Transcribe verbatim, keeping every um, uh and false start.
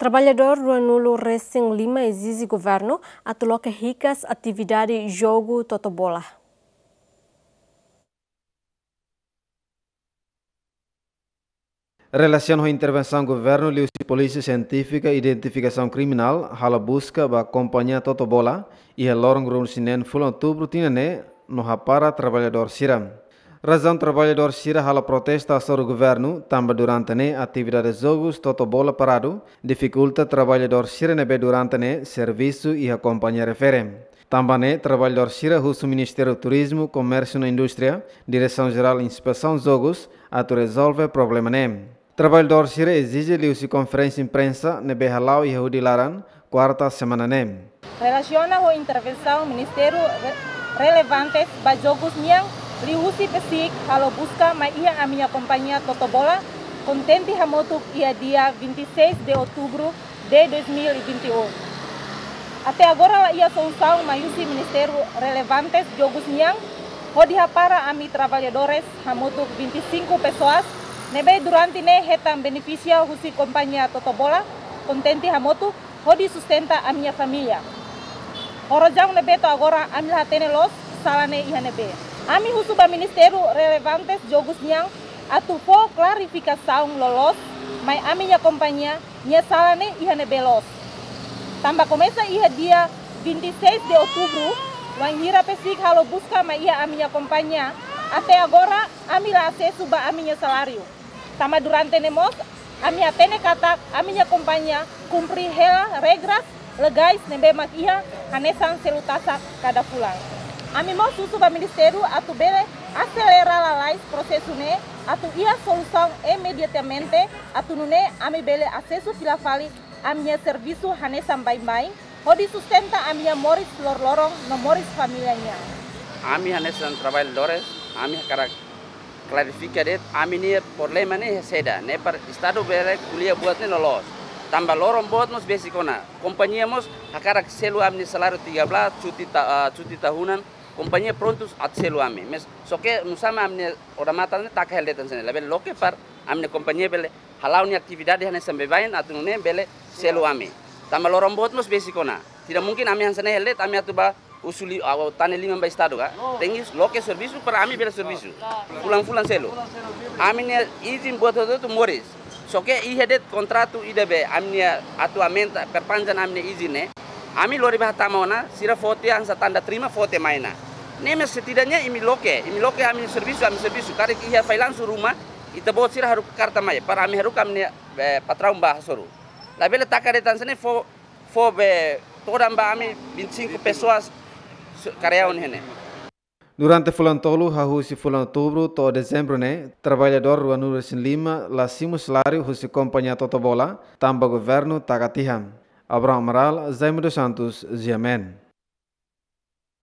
Traballadór ruanulu resin lima ezije governu atu loke hikas atividade jogu totobola. Relasiona ho intervensaun governu liuhusi Polísia Sientífika Identifikasaun Kriminál halo buska ba kompañia totobola iha loron ruanulu-resin-neen fulan Outubru tinan ne'e no hapara traballadór sira. Razaun traballadór sira halo protesta hasoru governu tanba durante ne'e atividade jogus totobola paradu, difikulta traballadór sira ne'ebé durante ne'e servisu iha kompañia refere. Tanba ne'e traballadór sira husu Ministériu Turizmu, Komérsiu no Indústria, Diresaun Jerál Inspesaun Jogus atu rezolve problema ne'e. Traballadór sira ezije liuhusi konferénsia imprensa ne'ebé hala'o iha hudi laran, kuarta semana ne'e. Relasiona ho intervensaun Ministériu re-, relevantes ba jogus nian, liuhusi PSIK halo buska mai iha ami-nia kompañia totobola, kontente hamutuk iha dia vinte e seis de outubro de dois mil e vinte e um. Até agora la iha solusaun mai husi ministériu relevantes jogus nian, hodi hapara ami traballadores hamutuk vinte e cinco pessoas, ne'ebé durante ne'e hetan benefísiu husi kompañia totobola, kontente hamutuk, hodi sustenta ami-nia família. Ho razaun ne'ebé to'o agora ami la hatene loos sala ne'e iha ne'ebé. Ami husu ba ministériu relevantes jogus nian atu fó klarifikasaun loloos mai ami-nia kompañia nia sala ne'e iha ne'ebé loos. Tanba komesa iha dia vinte e seis de outubro, wainhira PSIK halo buska mai iha ami-nia kompañia, até agora ami la asesu ba ami-nia saláriu. Tanba durante ne'e mós, ami hatene katak ami-nia kompañia kumpre hela regras legais ne'ebé mak iha hanesan selu tasak kada fulan. Ami mós husu ba ministériu atu bele aselera lalais prosesu ne'e atu iha solusaun imediatamente atu nune'e ami bele asesu fila fali ami-nia servisu hanesan baibain, hodi sustenta ami-nia moris loroloron no moris família nian. Ami hanesan traballadores, ami hakarak klarifika de'it, ami-nia problema ne'e saida, ne'e para Estadu bele ko'alia buat ne'e loloos. Tanba loron boot mós besik ona. Kompañia mós hakarak selu ami-nia saláriu tiga belas, cuti ta-, ah, cuti tahunan, kompañia prontu atu selu ami. Mas só ke nusá mak ami-nia odamatan ne'e taka hela de'it hanesan ne'e, labele loke para ami-nia kompañia bele hala'o nia atividade hanesan baibain atu nune'e bele selu ami. Tanba loron boot mós besik ona. Tidak mungkin ami hanesan ne'e hela de'it, ami atu bá husu li-, ah, tane liman ba Estadu ka. Tenke loke servisu para ami bele servisu. Fulan-fulan selu. Ami-nia izin buat hotu-hotu moris. Só ke iha de'it kontratu ida be ami-nia atu aumenta, perpanjang ami-nia izin ne'e. Ami lori bá hatama ona, sira fó tiha hanesan tanda terima, fó tiha mai ona. Ne'e mas setidaknya imi loke, imi loke ami servisu, ami servisu. Karik iha failansu ruma, ita-boot sira haruka karta mai, para ami haruka ami-nia, eh, patraun bá hasoru. Labele taka de'it hanesan ne'e fó, fó be todan ba ami vinte e cinco pessoas su-, karyaun iha ne'e. Durante fulan tolu, hahú husi fulan Outubru to'o Dezembru ne'e, traballadór ruanulu-resin-lima la simu saláriu husi kompañia totobola, tanba governu taka tiha. Abraham Amaral, Jaime dos Santos, G M N.